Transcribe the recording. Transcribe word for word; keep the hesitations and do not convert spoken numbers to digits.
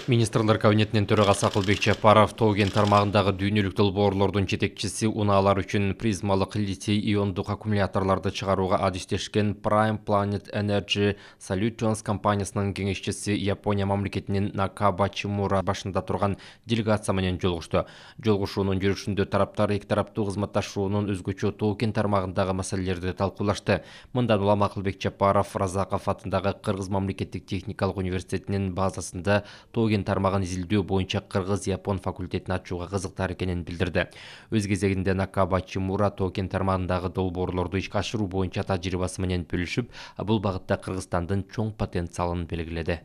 Министрлер кабинетинин төрагасы Акылбек Жапаров Тоо-Кен тармагындагы дүйнөлүк долбоорлордун жетекчиси унаалар үчүн призмалык литий иондук аккумуляторлорду чыгарууга адистешкен Prime Planet Energy Solutions компаниясынын кеңешчиси Япония мамлекетинин Накабачи Мура башында турган делегация менен жолугушту. Жолугушуунун жүрүшүндө тараптар эки тараптуу кызматташуунун өзгөчө Тоо-Кен тармагындагы маселелерди талкуулашты. Мындан улам Акылбек Жапаров Разаков атындагы Кыргыз мамлекеттик техникалык университетинин базасында Тоо-Кен тармагын изилдөө боюнча кыргыз-япон факультетин ачууга кызыктар экенин билдирди. Өз кезегинде Накабачи Мура Тоо-Кен тармагындагы долбоорлорду ишке ашыруу боюнча тажрыйбасы менен бөлүшүп, бул багытта Кыргызстандын чоң потенциалын белгиледи.